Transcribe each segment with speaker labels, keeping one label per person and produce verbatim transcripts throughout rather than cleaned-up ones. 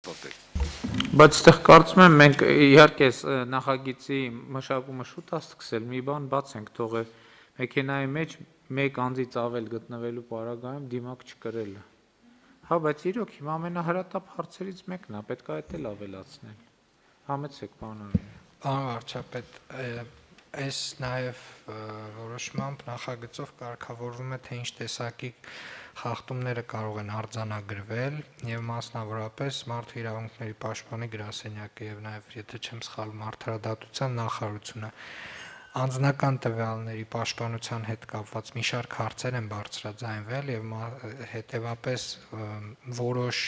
Speaker 1: հաստատել։
Speaker 2: Բայց այդտեղ կարծում եմ մենք իհարկե նախագիծի մշակումը շուտ է սկսել, մի բան բաց ենք թողել մեքենայի մեջ մեկ անձից ավել գտնվելու պարագայում դիմակ չկրելը։ Հա, բայց իրոք հիմա ամենահրատապ հարցերից մեկն է, պետք է այդ էլ ավելացնել։ Համեցեք, պարոն Արոյան։
Speaker 3: Պարոն վարչապետ, այս նաև որոշմամբ նախագծով կարգավորվում է, թե ինչ տեսակի խախտումները կարող են արձանագրվել եւ մասնավորապես մարդու իրավունքների պաշտպանի գրասենյակը եւ նաեւ եթե չեմ սխալվում արդարադատության նախարարությունը անձնական տվյալների պաշտպանության հետ կապված մի շարք հարցեր են բարձրաձայնվել եւ հետեւապես որոշ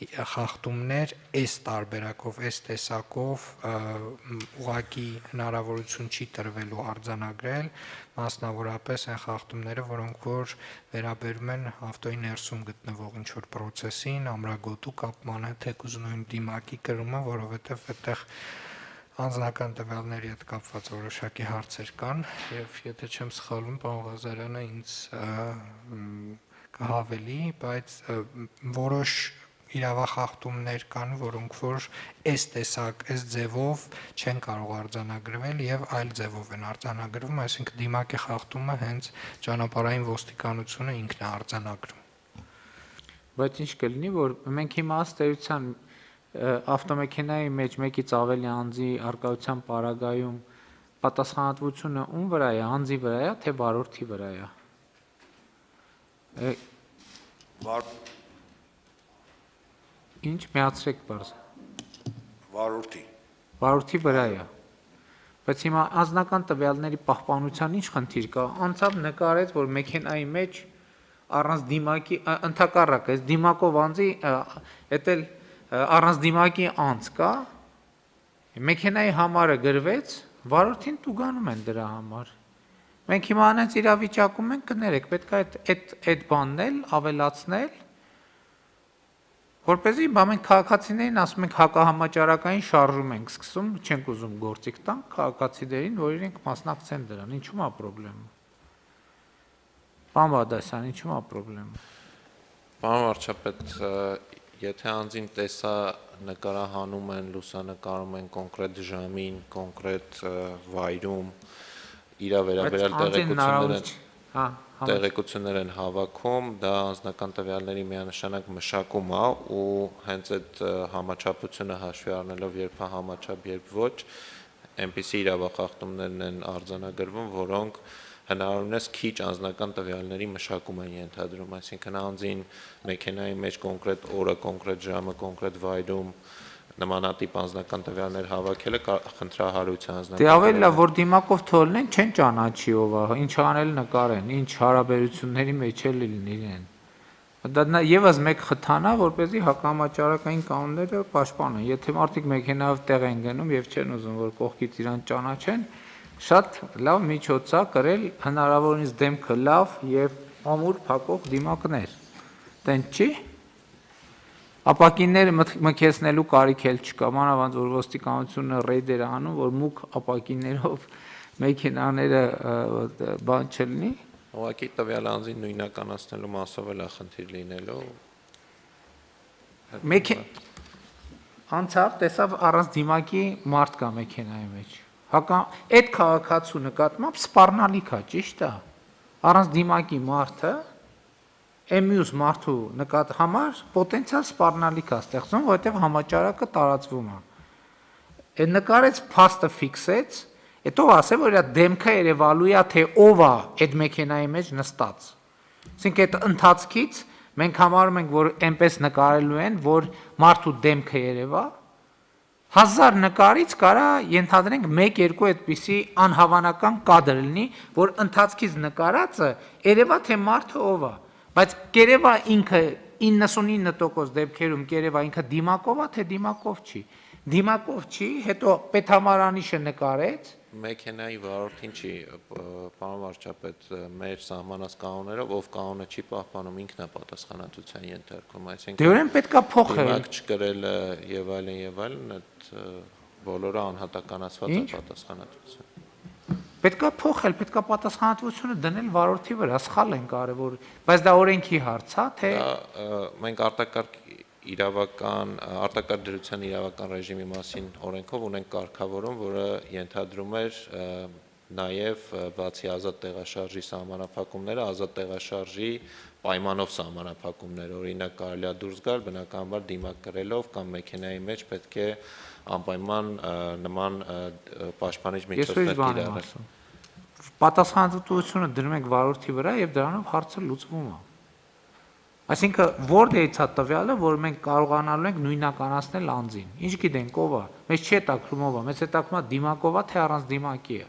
Speaker 3: խախտումներ այս տարբերակով, այս տեսակով ուղղակի հնարավորություն չի տրվելու արձանագրել, մասնավորապես այն խախտումները, որոնք որ վերաբերում են ավտոյի ներսում գտնվող ինչ-որ պրոցեսին, ամրագոտու կապմանը, թեկուզ նույն դիմակի կրումը, որովհետև այդտեղ անձնական տվյալների հետ կապված որոշակի հարցեր կան եւ եթե չեմ սխալվում, պարոն Ղազարյանը ինձ կհավելի, բայց որոշ իրավախախտումներ կան, որոնք որ այս տեսակ, այս ձևով չեն կարող արձանագրվել եւ այլ ձևով են արձանագրվում, այսինքն դիմակի խախտումը հենց ճանապարհային ոստիկանությունը ինքն է արձանագրում։
Speaker 2: Բայց ինչ կլինի, որ մենք հիմա ըստ էության ավտոմեքենայի մեջ մեկից ավելի անձի արկայության պարագայում պատասխանատվությունը ում վրա է, անձի վրա է, թե վարորդի վրա է։ Ինչ միացրեք բարձ։
Speaker 1: Վարորդի։
Speaker 2: Վարորդի վրա է։ Բայց հիմա անձնական տվյալների պահպանության ինչ խնդիր կա։ Անցավ նկարեց, որ մեքենայի մեջ առանց դիմակի ընդհակառակ է, դիմակով անձի էտել առանց դիմակի անց կա, մեքենայի համարը գրվեց, վարորդին տուգանում են դրա համար։ Մենք հիմա անենց իրավիճակում ենք, կներեք, պետք է այդ բանն էլ ավելացնել, որպեսզի մենք քաղաքացիներին ասում ենք հակահամաճարակային շարժում ենք սկսում, չենք ուզում գործիք տանք քաղաքացիներին, որ իրենք մասնակցեն դրան, ինչու՞մ է պրոբլեմը։ Պարոն Բադասյան, ինչու՞մ է պրոբլեմը։
Speaker 4: Պարոն վարչապետ, եթե անձին տեսա նկարահանում են, լուսանկարում են կոնկրետ ժամին, կոնկրետ վայրում, իր վերաբերյալ տեղեկություններ են հավաքում, դա անձնական տվյալների միանշանակ մշակում է ու հենց այդ համաչափությունը հաշվի առնելով երբ է համաչափ, երբ ոչ, այնպիսի իրավախախտումներն են արձանագրվում, որոնք հնարավորինս քիչ անձնական տվյալների մշակում են ենթադրում, այսինքն անձին մեքենայի մեջ կոնկրետ օրը, կոնկրետ ժամը, կոնկրետ վայրում նմանատիպ անձնական տվյալներ հավաքելը խնդրահարույց է անձնական։
Speaker 2: Դե ավելի լավ, որ դիմակով թողնեն, չեն ճանաչի ով է, ինչ անել նկարեն, ինչ հարաբերությունների մեջ էլ լինեն։ Դա եւս մեկ խթան է, որպեսզի հակամաճարակային կանոնները պաշտպանեն։ Եթե մարդիկ մեքենայով տեղ են գնում եւ չեն ուզում, որ կողքից իրան ճանաչեն, շատ լավ միջոց է կրել հնարավորինս դեմքը լավ եւ ամուր փակող դիմակներ։ Տենց չի։ Ապակինները մքեցնելու կարիք էլ չկա, մանավանդ որ ոստիկանությունը ռեյդեր է անում, որ մուգ ապակիններով մեքենաները բան չլինի։
Speaker 4: Ուղղակի տվյալ անձին նույնականացնելու մասով էլ է խնդիր լինելու։
Speaker 2: Մեկ անցավ տեսավ առանց դիմակի մարդ կա մեքենայի մեջ։ Հակա այդ քաղաքացու նկատմամբ սպառնալիք է, ճիշտ է։ Առանց դիմակի մարդը Էմյուս մարդու նկատ համար պոտենցիալ սպառնալիք է ստեղծում, որովհետև համաճարակը տարածվում է։ Այդ նկարեց փաստը ֆիքսեց, հետո ասել, որ իր դեմքը երևալու է, թե ով է այդ մեքենայի մեջ նստած։ Այսինքն այդ ընթացքից մենք համարում ենք, որ այնպես նկարելու են, որ մարդու դեմքը երևա, հազար նկարից կարա ենթադրենք մեկ-երկու այդպիսի անհավանական կադր լինի, որ ընթացքից նկարածը երևա թե մարդը ով է։ Բայց կերևա ինքը իննսունինը տոկոս դեպքերում կերևա ինքը դիմակով է, թե դիմակով չի։ Դիմակով չի, հետո պետհամարանիշը նկարեց։
Speaker 4: Մեքենայի վարորդին չի, պարոն վարչապետ, մեր սահմանած կանոններով, ով կանոնը չի պահպանում, ինքն է պատասխանատվության ենթարկվում, այսինքն
Speaker 2: դե ուրեմն պետք է փոխել։
Speaker 4: Դիմակ չկրելը եւ այլն եւ այլն, այդ բոլորը անհատականացված է պատասխանատվություն։
Speaker 2: Պետք է փոխել, պետք է պատասխանատվությունը դնել վարորդի վրա, սխալ են կարևոր, բայց դա օրենքի հարց է, թե
Speaker 4: Մենք արտակարգ իրավական արտակարգ դրության իրավական ռեժիմի մասին օրենքով ունենք կարգավորում, որը ենթադրում էր նաև բացի ազատ տեղաշարժի սահմանափակումները, ազատ տեղաշարժի պայմանով սահմանափակումներ, օրինակ կարելի է դուրս գալ բնականաբար դիմակ կրելով կամ մեքենայի մեջ պետք է անպայման նման պաշտպանիչ միջոցներ կիրառել։
Speaker 2: Պատասխանատվությունը դնում ենք վարորդի վրա եւ դրանով հարցը լուծվում է։ Այսինքն որտեղից է տվյալը, որ մենք կարողանալու ենք նույնականացնել անձին։ Ինչ գիտենք ով է, մեզ չի հետաքրում ով է, մեզ հետաքրում է դիմակով է, թե առանց դիմակի է։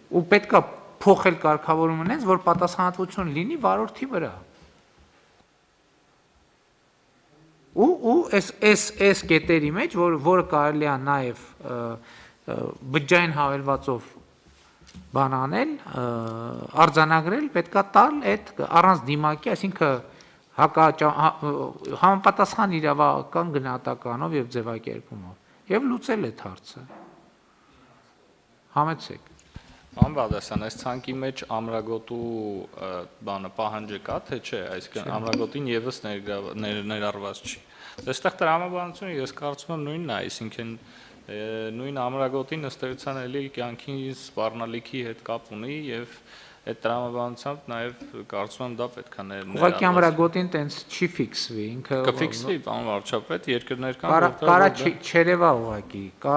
Speaker 2: Ու պետք է փոխել կարգավորումը այնպես, որ պատասխանատվություն լինի վարորդի վրա։ Ու ու այս այս այս կետերի մեջ, որ որը կարելի է նաև բջջային հավելվածով բան անել, արձանագրել, պետքա տալ այդ առանց դիմակի, այսինքն համապատասխան իրավական գնահատականով եւ ձևակերպումով եւ լուծել այդ հարցը։ Համեցեք։
Speaker 5: Պարոն Բաղդասարյան, այս ցանկի մեջ ամրագոտու բանը պահանջը կա, թե չէ, այսինքն ամրագոտին եւս ներառված չի։ Այստեղ տրամաբանությունը ես կարծում եմ նույնն է, այսինքն նույն ամրագոտին ըստ էության էլի կյանքի սպառնալիքի հետ կապ ունի եւ այդ տրամաբանությամբ նաեւ կարծում եմ դա պետք է ներառված։
Speaker 2: Ուղղակի ամրագոտին տենց չի ֆիքսվի, ինքը
Speaker 5: կֆիքսվի, պարոն վարչապետ, երկրներ կան,
Speaker 2: որտեղ կարա չերևա ուղղակի, կա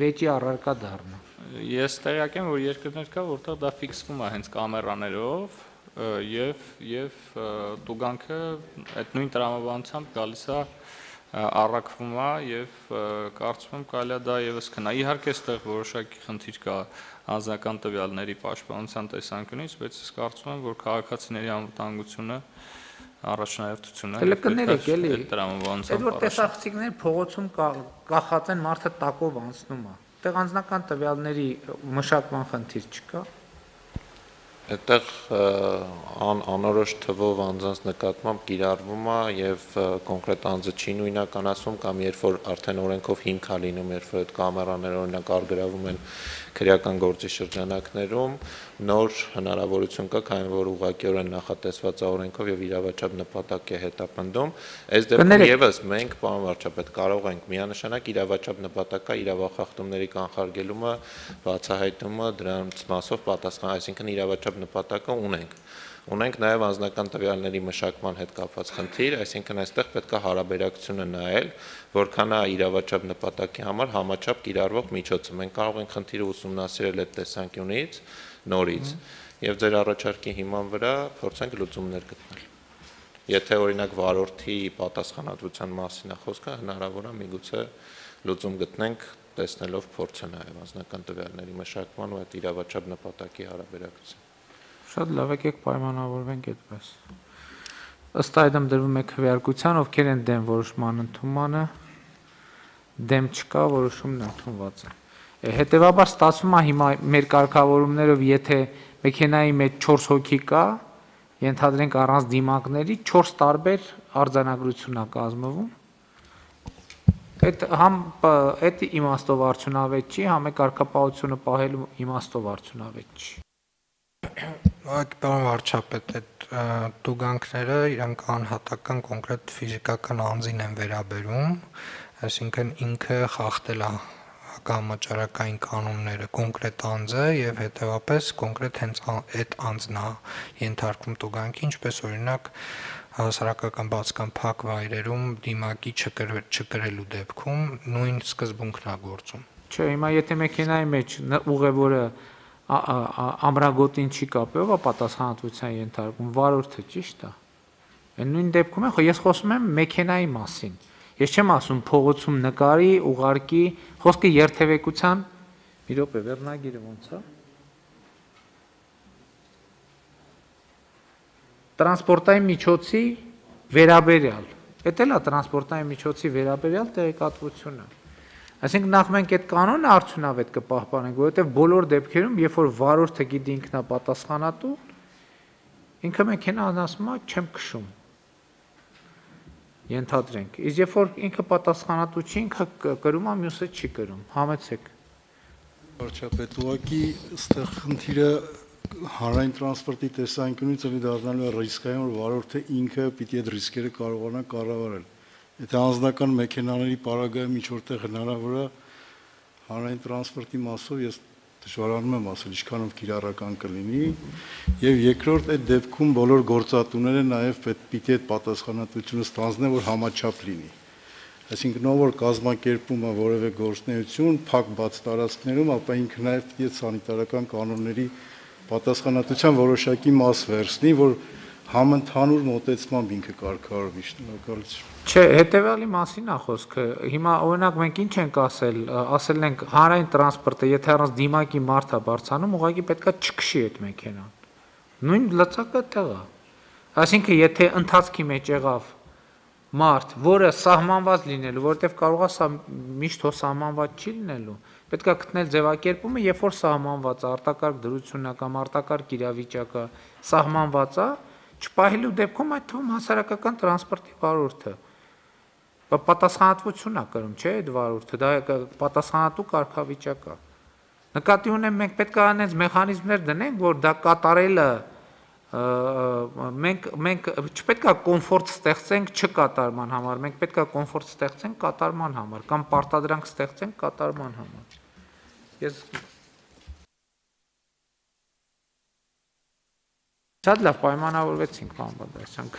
Speaker 2: վեճի առարկա դառնա։
Speaker 5: Ես տեղյակ եմ, որ երկրներ կա, որտեղ դա ֆիքսվում է հենց կամերաներով եւ եւ տուգանքը այդ նույն տրամաբանությամբ գալիս է առաքվում է եւ կարծում եմ կարելի է դա եւս քնա։ Իհարկե այստեղ որոշակի խնդիր կա անձնական տվյալների պաշտպանության տեսանկյունից, բայց ես կարծում եմ, որ քաղաքացիների անվտանգությունը առաջնահերթություն է։
Speaker 2: Կներեք էլի։
Speaker 5: Այդ տրամաբանությամբ։
Speaker 2: Այդ որ տեսախցիկներ փողոցում կախած են, մարդը տակով անցնում է։ Այդտեղ անձնական տվյալների մշակման խնդիր չկա։
Speaker 4: Այդտեղ անորոշ թվով անձանց նկատմամբ կիրառվում է եւ կոնկրետ անձը չի նույնականացվում կամ երբ որ արդեն օրենքով հիմք է լինում, երբ որ այդ կամերաները օրինակ արգրավում են քրեական գործի շրջանակներում, նոր հնարավորություն կա, քանի որ ուղղակիորեն նախատեսված է օրենքով եւ իրավաչափ նպատակ է հետապնդում։ Այս դեպքում եւս մենք, պարոն վարչապետ, կարող ենք միանշանակ իրավաչափ նպատակը իրավախախտումների կանխարգելումը, բացահայտումը, դրանց մասով պատասխան, այսինքն իրավաչափ նպատակը ունենք։ Ունենք նաև անձնական տվյալների մշակման հետ կապված խնդիր, այսինքն այստեղ պետք է հարաբերակցությունը նայել, որքան է իրավաչափ նպատակի համար համաչափ կիրառվող միջոցը։ Մենք կարող ենք խնդիրը ուսումնասիրել այդ տեսանկյունից նորից եւ ձեր առաջարկի հիման վրա փորձենք լուծումներ գտնել։ Եթե օրինակ վարորդի պատասխանատվության մասին է խոսքը, հնարավոր է միգուցե լուծում գտնենք, տեսնելով փորձը նաև անձնական տվյալների մշակման ու այդ իրավաչափ նպատակի հարաբերակցություն։
Speaker 2: Շատ լավ, եկեք պայմանավորվենք այդպես։ Ըստ այդմ դրվում է քվեարկության, ովքեր են դեմ որոշման ընդունմանը, դեմ չկա, որոշումն ընդունված է։ Հետևաբար ստացվում է հիմա մեր կարգավորումներով, եթե մեքենայի մեջ չորս հոգի կա, ենթադրենք առանց դիմակների չորս տարբեր արձանագրություն է կազմվում։ Այդ համ այդ իմաստով արդյունավետ չի, համ է կարգապահությունը պահելու իմաստով արդյունավետ չի։
Speaker 3: Պարոն վարչապետ, այդ տուգանքները իրանք անհատական կոնկրետ ֆիզիկական անձին են վերաբերում, այսինքն ինքը խախտել է հակամաճարակային կանոնները կոնկրետ անձը եւ հետեւապես կոնկրետ հենց այդ անձն է ենթարկվում տուգանքի, ինչպես օրինակ հասարակական բացկան փակ վայրերում դիմակի չկրելու դեպքում նույն սկզբունքն է գործում։
Speaker 2: Չէ, հիմա եթե մեքենայի մեջ ուղևորը ամրագոտին չի կապել, ով է պատասխանատվության ենթարկում, վարորդը, ճիշտ է։ Այն նույն դեպքում է, ես խոսում եմ մեքենայի մասին։ Ես չեմ ասում փողոցում նկարի, ուղարկի, խոսքը երթևեկության, մի րոպե, վերնագիրը ոնց է։ Տրանսպորտային միջոցի վերաբերյալ։ Դա էլ է տրանսպորտային միջոցի վերաբերյալ տեղեկատվությունը։ Այսինքն նախ մենք այդ կանոնը արդյունավետ կպահպանենք, որովհետև բոլոր դեպքերում, երբ որ վարորդը գիտի ինքնապատասխանատու, ինքը մեքենան ասում է չեմ քշում։ Ենթադրենք։ Իսկ երբ որ ինքը պատասխանատու չի, ինքը կրում է, մյուսը չի կրում։ Համեցեք։
Speaker 6: Վարչապետ, ուղղակի այստեղ խնդիրը հանրային տրանսպորտի տեսանկյունից էլի դառնալու է ռիսկային, որ վարորդը ինքը պիտի այդ ռիսկերը կարողանա կառավարել։ Եթե անձնական մեքենաների պարագայում ինչ որտեղ հնարավոր է հանրային տրանսպորտի մասով ես դժվարանում եմ ասել ինչքանով կիրառական կլինի, եւ երկրորդ այդ դեպքում բոլոր գործատուները նաեւ պիտի այդ պատասխանատվությունը ստանձնեն, որ համաչափ լինի։ Այսինքն ով որ կազմակերպում է որևէ գործունեություն փակ բաց տարածքներում, ապա ինքը նաեւ պիտի սանիտարական կանոնների պատասխանատվության որոշակի մաս վերցնի, որ համընդհանուր մոտեցմամբ ինքը կարգավորվի։ Շնորհակալություն։
Speaker 2: Չէ, հետեւյալի մասին է խոսքը։ Հիմա օրինակ մենք ինչ ենք ասել, ասել ենք հանրային տրանսպորտը, եթե առանց դիմակի մարդ է բարձանում, ուղղակի պետքա չքշի այդ մեքենան։ Նույն լծակը տեղ է։ Այսինքն, եթե ընթացքի մեջ եղավ մարդ, որը սահմանված լինելու, որովհետև կարող է սա միշտ հո սահմանված չի լինելու, պետք է գտնել ձևակերպումը, երբ որ սահմանված է, արտակարգ դրությունն է կամ արտակարգ իրավիճակը սահմանված է, չպահելու դեպքում այդ թվում հասարակական տրանսպորտի վարորդը պատասխանատվություն է կրում, չէ՞, այդ վարորդը, դա պատասխանատու կարգավիճակ է։ Նկատի ունեմ մենք պետք է անենց մեխանիզմներ դնենք, որ դա կատարելը մենք մենք չպետք է կոմֆորտ ստեղծենք չկատարման համար, մենք պետք է կոմֆորտ ստեղծենք կատարման համար կամ պարտադրանք ստեղծենք կատարման համար։ Ես շատ լավ պայմանավորվեցինք, պարոն Բադասյան։